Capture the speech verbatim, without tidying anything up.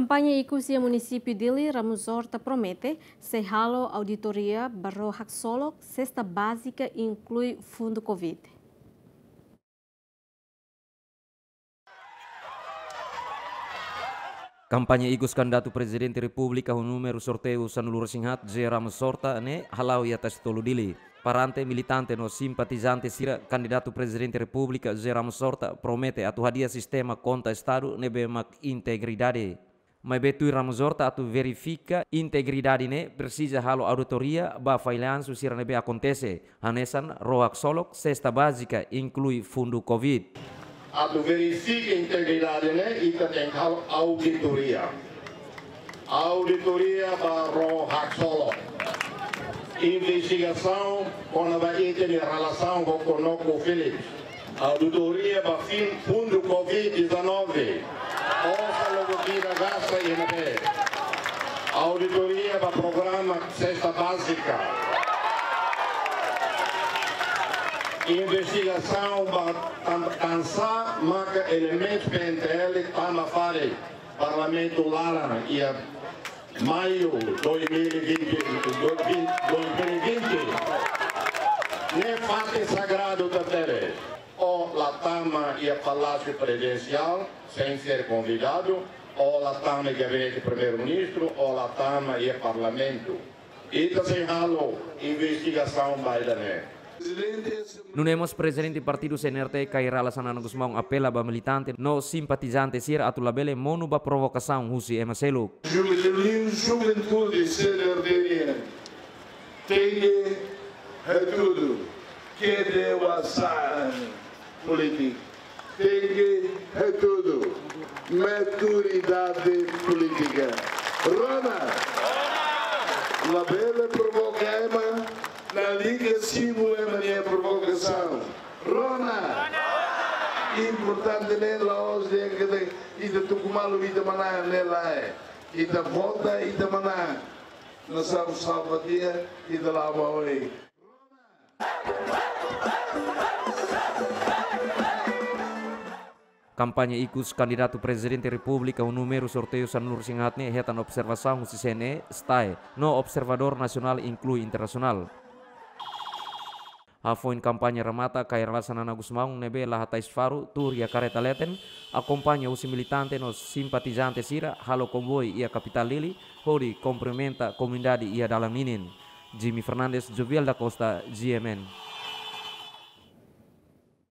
Kampaña ikus iha munisípiu Dili, Ramos Horta promete sei halo auditoria ba ró haksolok, sesta bázika, inklui fundu covid. Kampaña ikus kandidatu Prezidente Repúblika ho númeru sorteiu sanulu-resin-haat, José Ramos Horta ne'e hala'o iha Tasitolu, Dili. Perante militante no simpatizante sira, kandidatu Prezidente Repúblika José Ramos Horta promete atu hadi'a sistema konta Estadu ne'ebé mak integridade. Maibé tuir Ramos Horta, atu verifika integridade ne'e presiza halo auditoria ba fallansu sira ne'ebé akontese, hanesan ró haksolok, sesta bázika, inklui fundu covid. Atu verifika integridade ne'e, ita tenke halo auditoria. Auditoria ba ró haksolok. Investigasaun kona-ba ita-nia relasaun ho Conoco Phillips. Auditoria ba fin fundu covid dezanove. Osan logo kira gasta iha ne'ebé. Auditoria ba programa sesta bázika. Investigasaun ba tan-, tansá maka elementu P N T L tama fali Parlamentu laran iha maiu dois mil e vinte, dois mil, dois mil e vinte. Ne'e fatin sagradu tebes. Ó la tama iha Palásiu Prezidensiál, sein ser konvidadu, ó la tama iha Gabinete Primeiru-Ministru, ó la tama iha Parlamentu. Ita sei halo investigasaun ba ida-ne'e. Nune'e mós Prezidente Partidu C N R T, Kay Rala Xanana Gusmão, apela ba militante no simpatizante sira atu labele monu ba provokasaun husi ema seluk. Juventude, juventude C N R T nian tenke hatudu, kede wasan polítika. Tenke hatudu, maturidade polítika. Rona! Labele provoka ema, lalika simu ema nia provokasaun. Rona! Importante ne'e la'ós dehan katak ita tuku malu, ita manán, ne'e lae. Ita vota, ita manán. Nasaun salva tiha, ita la'o ba oin. Kampaña ikus kandidatu Prezidente Repúblika ho númeru sorteiu sanulu-resin-haat ne'e hetan observasaun husi C N E, STAE, no observadór nasionál inklui internasionál. Hafoin kampaña remata, Kay Rala Xanana Gusmão ne'ebé la hatais faru, tuur iha karreta leten, akompaña husi militante no simpatizante sira, halo konvoi iha kapitál Dili, hodi kumprimenta komunidade iha dalan ninin. Jimmy Fernandes, Jovial da Costa, G M N.